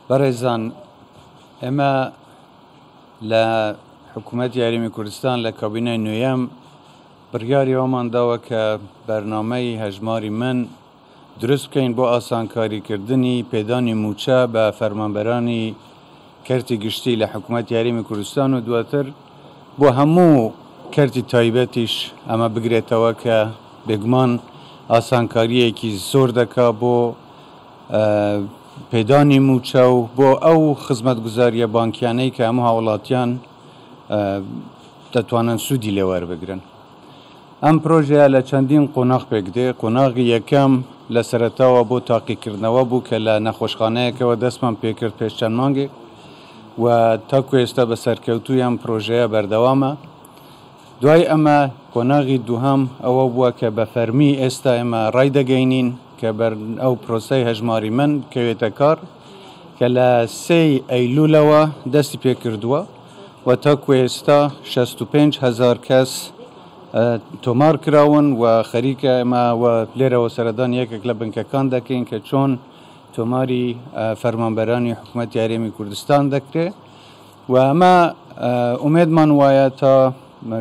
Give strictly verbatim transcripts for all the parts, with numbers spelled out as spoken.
بەڕێزان، ئێمە لە حکوومەتی هەرێمی کوردستان لە کابینەی نوێیەم بڕیاری ئەومان داوە کە بەرنامەی هەژماری من دروست بکەین بۆ ئاسانکاریکردنی پێدانی مووچە بە فەرمانبەرانی کەرتی گشتی لە حکوومەتی هەرێمی کوردستان و دواتر بۆ هەموو کەرتی تایبەتیش ئەمە بگرێتەوە کە بێگومان ئاسانکاریەکی زۆر دەکا بۆ پێدانی مووچە و بۆ ئەو خزمەتگوزاریە بانکیانەی کە هەموو هاوڵاتیان دەتوانن سوودی لێوەربگرن. ئەم پرۆژەیە لە چەندین قۆناغ پێک دێ. قۆناغی یەکەم لە سەرەتاوە بۆ تاقیکردنەوە بوو کە لە نەخۆشخانەیەکەوە دەستمان پێکرد پێش چەند مانگێک و تاکو ئێستا بە سەرکەوتووی ئەم پرۆژەیە بەردەوامە. دوای ئەمە قۆناغی دووهەم ئەوە بووە کە بە فەرمی ئێستا ئێمە ڕای دەگەینین کە بەر ئەو پرۆسەی هەژماری من بکەوێتە کار کە لە سێی ئەیلولەوە دەستی پێکردووە و تاکو ئێستا شەست و پێنج هەزار کەس تۆمار کراون و خەریکە ئێمە و لێرەوە سەردان یەکێک لە بنکەکان دەکەین کە چۆن تۆماری فەرمانبەرانی حکوومەتی هەرێمی کوردستان دەکرێت و ئەمە ئومێدمان وایە تا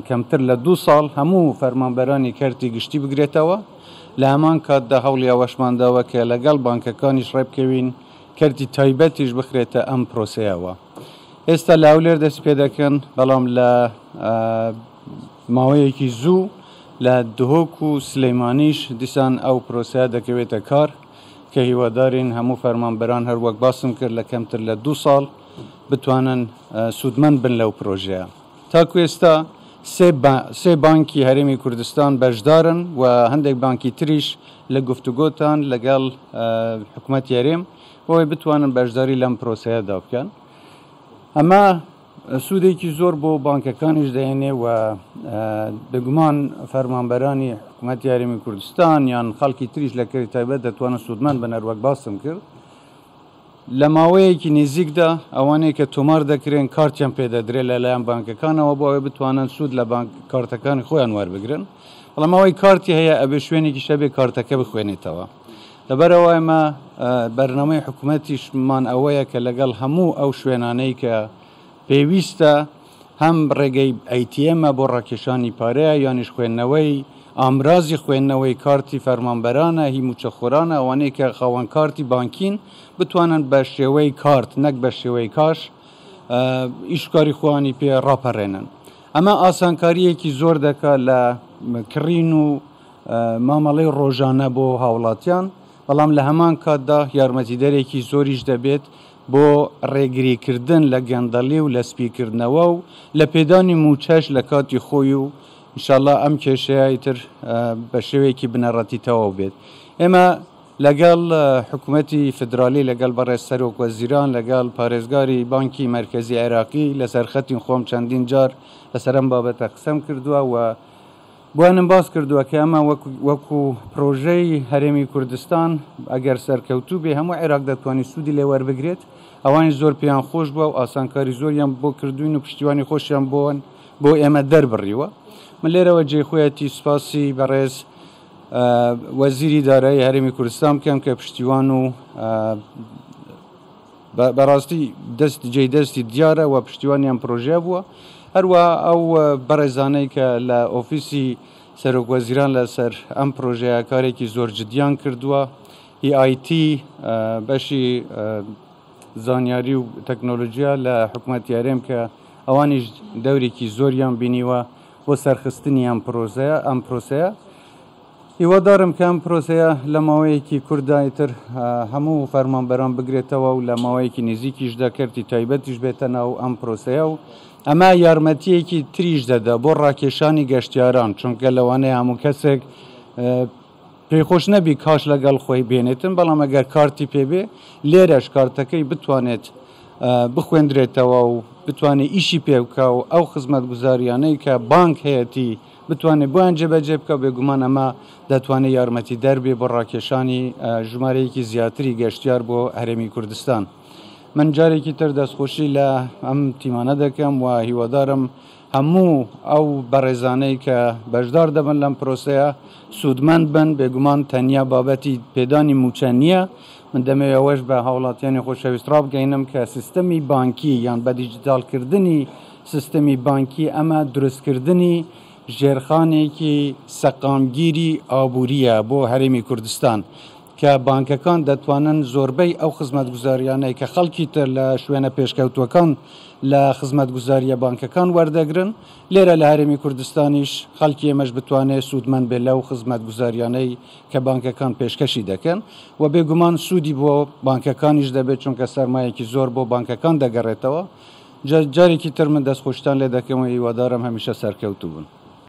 کەمتر لە دوو ساڵ هەموو فەرمانبەرانی کەرتی گشتی بگرێتەوە. لە هەمان کاتدا هەوڵی ئەوەشمان داوە کە لەگەڵ بانکەکانیش ڕێبکەوین کەرتی تایبەتیش بخرێتە ئەم پرۆسەیەوە. ئێستا لە هەولێر دەست پێ دەکەن، بەڵام لە ماوەیەکی زوو لە دهۆک و سلەیمانیش دیسان ئەو پرۆسەیە دەکەوێتە کار کە هیوادارین هەموو فەرمانبەران هەر وەک باسم کرد لە کەمتر لە دوو ساڵ بتوانن سوودمەند بن لەو پرۆژەیە. تاکو ئێستا سێ بانکی هەرێمی کوردستان بەشدارن و هەندێک بانکی تریش لە گفتوگۆتان لەگەڵ حکوومەتی هەرێم بۆی بتوانن بەشداری لەم پرۆسەیەدا بکەن. ئەمە سوودێکی زۆر بۆ بانکەکانیش دەهێنێ و بێگومان فەرمانبەرانی حکوومەتی هەرێمی کوردستان یان خەڵکی تریش لە کەرتی تایبەت دەتوانن سوودمەند بن. هەروەک باسم کرد لە ماوەیەکی نزیکدا ئەوانەی کە تۆمار دەکرێن کارتیان پێدەدرێت لەلایەن بانکەکانەوە بۆ ئەوەی بتوانن سوود لە بانک کارتەکانی خۆیان وەربگرن. بەڵام ئەوەی کارتی هەیە ئەبێ شوێنێکی شەبێ کارتەکە بخوێنێتەوە. لەبەرەوە ئێمە بەرنامەی حکوومەتیشمان ئەوەیە کە لەگەڵ هەموو ئەو شوێنانەی کە پێویستە هەم ڕێگەی ئەیتیەمە بۆ ڕاکێشانی پارەیە یانیش خوێندنەوەی ئامرازی خوێندنەوەی کارتی فەرمانبەرانە هی موچەخۆرانە ئەوانەی کە خاوەن کارتی بانکین بتوانن بە شێوەی کارت نەک بە شێوەی کاش ئیشکاری خۆیانی پێ ڕاپەڕێنن. ئەمە ئاسانکاریەکی زۆر دەکات لە کڕین و مامەڵەی ڕۆژانە بۆ هاوڵاتیان، بەڵام لە هەمان کاتدا یارمەتیدەرێکی زۆریش دەبێت بۆ ڕێگریکردن لە گەندەڵی و لە سپیکردنەوە و لە پێدانی موچەش لە کاتی خۆی و ئینشاءاللە ئەم کێشەیە ئیتر بە شێوەیەکی بنەڕەتی تەواو بێت. ئێمە لەگەڵ حکوومەتی فیدرالی، لەگەڵ بەڕێز سەرۆک وەزیران، لەگەڵ پارێزگاری بانکی مەرکەزی عێراقی لەسەر خەتی خۆم چەندین جار لەسەر ئەم بابەتە قسەم کردووە و بۆیانم باس کردووە کە ئەمە وەکو پرۆژەی هەرێمی کوردستان ئەگەر سەرکەوتوو بێ هەموو عێراق دەتوانێت سوودی لێ وەربگرێت. ئەوانیش زۆر پێیان خۆش بووە و ئاسانکاری زۆریان بۆ کردوین و پشتیوانی خۆشیان بۆن بۆ ئێمە دەربڕیوە. من لێرەوە جێخۆیەتی سوپاسی بەڕێز وەزیری دارایی هەرێمی کوردستان بکەم کە پشتیوان و بەڕاستی دەست جێ دەستی دیارە و پشتیوانیان پرۆژە بووە. هەروە ئەو بەڕێزانەی کە لە ئۆفیسی سەرۆک وەزیران لەسەر ئەم پرۆژەیە کارێکی زۆر جدیان کردووە، ئی ئای تی بەشی زانیاری و تەکنۆلۆژیا لە حکوومەتی هەرێم کە ئەوانیش دەورێکی زۆریان بینیوە بۆ سەرخستنی ئەم پرۆسەیە ئەم پرۆسەیە. هیوادارم کە ئەم پرۆسەیە لە ماوەیەکی کووردا ئیتر هەموو فەرمانبەران بگرێتەوە و لە ماوەیەکی نزیکیشدا کەرتی تایبەتیش بێتە ناو ئەم پرۆسەیە و ئەمە یارمەتیەکی تریش دەدا بۆ ڕاکێشانی گەشتیاران، چونکە لەوانەیە هەموو کەسێک پێیخۆش نەبی کاش لەگەڵ خۆی بێنێتن، بەڵام ئەگەر کارتی پێبێ لێرەش کارتەکەی بتوانێت بخوێندرێتەوە و بتوانێت ئیشی پێ بکە و ئەو خزمەتگوزاریانەی کە بانک هەیەتی بتوانێت بۆیان جێبەجێ بکە. بێگومان ئەمە دەتوانێت یارمەتی دەربێ بۆ ڕاکێشانی ژمارەیەکی زیاتری گەشتیار بۆ هەرێمی کوردستان. من جارێکی تر دەستخۆشی لە ئەم تیمانە دەکەم و هیوادارم هەموو ئەو بەڕێزانەی کە بەشدار دەبن لەم پرۆسەیە سوودمەند بن. بێگومان تەنیا بابەتی پێدانی موچە نییە، من دەمەوێت ئەوەش بە هاوڵاتیانی خۆشەویست ڕابگەینم کە سیستەمی بانکی یان بە دیجیتاڵکردنی سیستەمی بانکی ئەمە دروستکردنی ژێرخانێکی سەقامگیری ئابووریە بۆ هەرێمی کوردستان کە بانکەکان دەتوانن زۆربەی ئەو خزمەتگوزاریانەی کە خەڵکی تر لە شوێنە پێشکەوتووەکان لە خزمەتگوزاریە بانکەکان وەردەگرن، لێرە لە هەرێمی کوردستانیش خەڵکی ئێمەش بتوانێت سوودمەند بێت لەو خزمەتگوزاریانەی کە بانکەکان پێشکەشی دەکەن و بێگومان سوودی بۆ بانکەکانیش دەبێت، چونکە سەرمایەکی زۆر بۆ بانکەکان دەگەڕێتەوە. جارێکی تر من دەستخۆشتان لێ دەکەم و هیوادارم هەمیشە سەرکەوتوو بن.